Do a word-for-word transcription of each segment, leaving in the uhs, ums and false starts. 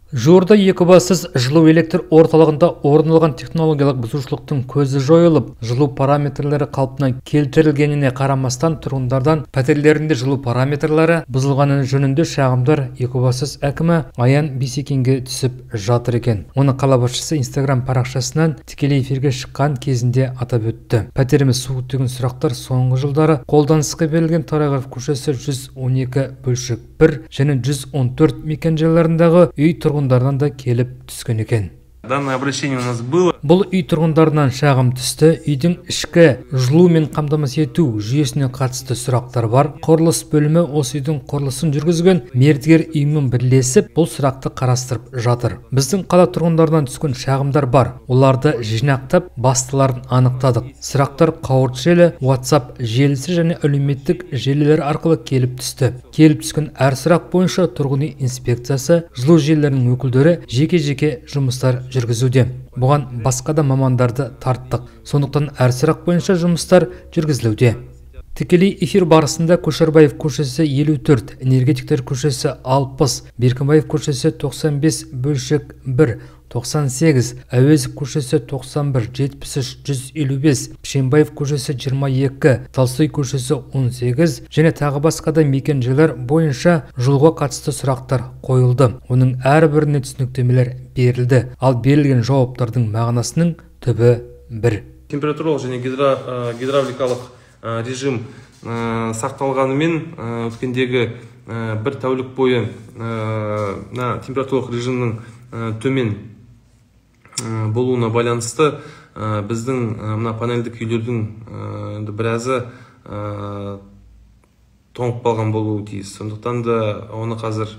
Жуырда Екібастұз жылу электр орталығында орын алған технологиялық бұзушылықтың көзі жойылып, жылу параметрлері қалпына келтірілгеніне қарамастан тұрғындардан пәтерлерінде жылу параметрлері бұзылғаны жөнінде шағымдар Екібастұз әкімі Аян Бейсекенге түсіп жатыр екен. Оны қала басшысы Инстаграм парақшасынан тікелей эфирге шыққан кезінде атап өтті. Пәтеріміз суы деген сұрақтар соңғы жылдары қолданысқа берілген Торайғыров көшесі жүз он екі бөлшек бір және жүз он төрт мекенжайларындағы үй тұрғындарынан да келіп түскен екен. Данное обращение у нас было. Бұл үй тұрғындарынан шағым түсті. Үйдің ішкі жылумен қамтамасыз ету жүйесіне қатысты сұрақтар бар. Құрылыс бөлімі осы үйдің құрылысын жүргізген мердігер ұйыммен бірлесіп, бұл сұрақты қарастырып жатыр. Біздің қала тұрғындарынан түскен шағымдар бар. Оларды жинақтап, бастыларын анықтадық. Сұрақтар қауырт желі, WhatsApp желісі және әлеуметтік желілер арқылы келіп түсті. Келіп түскен әр сұрақ бойынша тұрғын үй инспекциясы, жылу желілерінің өкілдері жеке-жеке жұмыстар жүргізуде. Бұған басқа да мамандарды тарттық. Сондықтан әр сұрақ бойынша жұмыстар жүргізілуде. Тікелей эфир барысында Көшербаев көшесі елу төрт, Энергетиктер көшесі алпыс, Беркінбаев көшесі тоқсан бес бөлшек бір, тоқсан сегіз, Әуезов көшесі тоқсан бір, жетпіс үш, жүз елу бес, Пішенбаев көшесі жиырма екі, Толстой көшесі он сегіз және тағы басқа да мекенжайлар бойынша жылуға қатысты сұрақтар қойылды. Оның әрбіріне түсініктемелер берілді. Ал берілген жауаптардың мағынасының түбі бір. Температуралық және гидравликалық режим сақталғанымен өткендегі бір тәулік бойы температуралық режимнің төмен болуына байланысты біздің мына панельдік үйлердің біразы тоңып қалған болуы тиіс. Сондықтан да оны қазір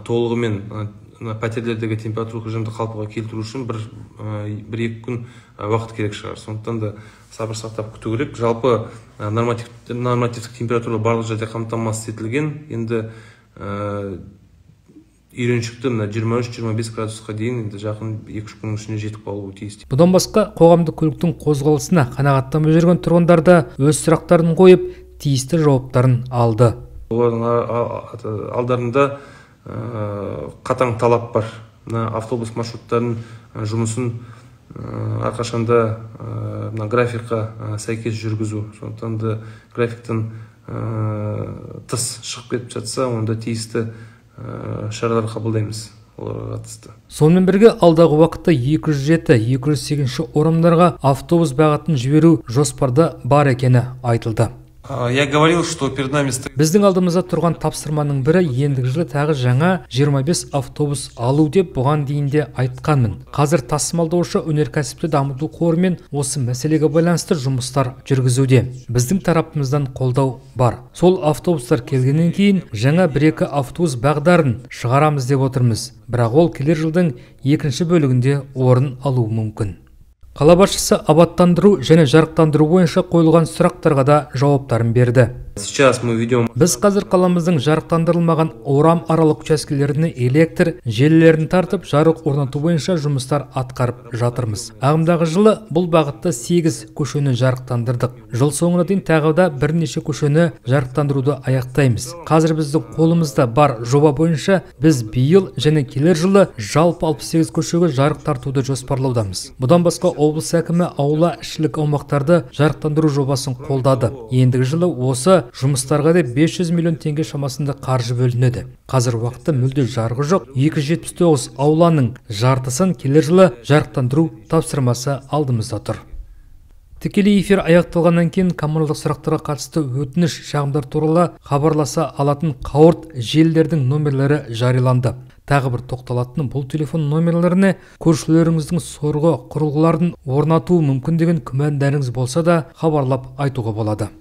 толығымен пәтерлердегі температуралық режимді қалпыға келтіру үшін бір екі күн уақыт керек шығар. Сондықтан да сабыр сақтап күту керек. Жалпы нормативтік температура барлық жерде қамтамасыз етілген. Енді үйреншікті жиырма үш жиырма бес градусқа дейін жақын екі үш күннің ішіне жетіп қалуы тиіс. Бұдан басқа қоғамдық көліктің қозғалысына қанағаттанбай жүрген тұрғындар да өз сұрақтарын қойып, тиісті жауаптарын алды. Олардың алдарында қатаң талап бар. Автобус маршруттарын жұмысын әрқашанда графикқа сәйкес жүргізу. Сондықтан да графиктен тыс шығып кетіп жатса, онда тиісті шаралар қабылдаймыз. Сонымен бірге алдағы уақытта екі жүз жеті екі жүз сегізінші орындарға автобус бағытын жіберу жоспарда бар екені айтылды. Я говорил, что перед нами стоит... Біздің алдымызда тұрған тапсырманың бірі ендігі жылы тағы жаңа жиырма бес автобус алу деп бұған дейін де айтқанмын. Қазір тасымалдаушы өнеркәсіпті дамыту қорымен осы мәселеге байланысты жұмыстар жүргізуде. Біздің тарапымыздан қолдау бар. Сол автобустар келгеннен кейін жаңа бір-екі автобус бағдарын шығарамыз деп отырмыз. Бірақ ол келер жылдың екінші бөлігінде орын алуы мүмкін. Қала басшысы абаттандыру және жарықтандыру бойынша қойылған сұрақтарға да жауаптарын берді. Сейчас мы ведем... Біз қазір қаламыздың жарықтандырылмаған орам аралық учаскелеріне электр желілерін тартып, жарық орнату бойынша жұмыстар атқарып жатырмыз. Ағымдағы жылы бұл бағытта сегіз көшені жарықтандырдық. Жыл соңына дейін тағы да бірнеше көшені жарықтандыруды аяқтаймыз. Қазір біздің қолымызда бар жоба бойынша біз биыл және келер жылы жалпы алпыс сегіз көшеге жарық тартуды жоспарлаудамыз. Бұдан басқа облыс әкімі аула ішілік аумақтарды жарықтандыру жобасын қолдады. Ендігі жылы осы жұмыстарға да бес жүз миллион теңге шамасында қаржы бөлінеді. Қазір уақытта мүлде жарығы жоқ екі жүз жетпіс тоғыз ауланың жартысын келер жылы жарықтандыру тапсырмасы алдымызда тұр. Тікелей эфир аяқталғаннан кейін коммуналдық сұрақтарға қатысты өтініш шағымдар туралы хабарласа алатын қауырт желілердің номерлері жарияланды. Тағы бір тоқталатын бұл телефон номерлеріне көршілеріңіздің сорғы құрылғыларын орнатуы мүмкін деген күмәндарыңыз болса да хабарлап айтуға болады.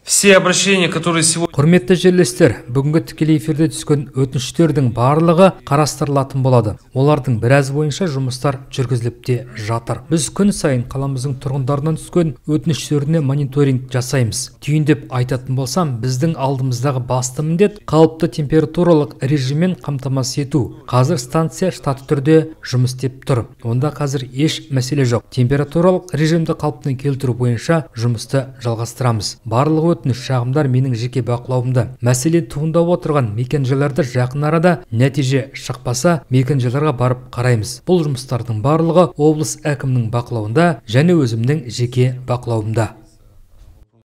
Все обращения, которые сегодня... Құрметті жерлестер, бүгінгі тікелей эфирде түскен өтініштердің барлығы қарастырылатын болады. Олардың біраз бойынша жұмыстар жүргізіліп те жатыр. Біз күн сайын қаламыздың тұрғындарынан түскен өтініштеріне мониторинг жасаймыз. Түйіндеп айтатын болсам, біздің алдымыздағы басты міндет қалыпты температуралық режиммен қамтамасыз ету. Қазір станция штатты түрде жұмыс істеп тұр. Онда қазір еш мәселе жоқ. Температуралық режимді қалпына келтіру бойынша жұмысты жалғастырамыз. Барлығы өтініш шағымдар менің жеке бақылауымда. Мәселе туындап отырған мекенжайларда жақын арада нәтиже шықпаса, мекенжайларға барып қараймыз. Бұл жұмыстардың барлығы облыс әкімінің бақылауында және өзімнің жеке бақылауымда.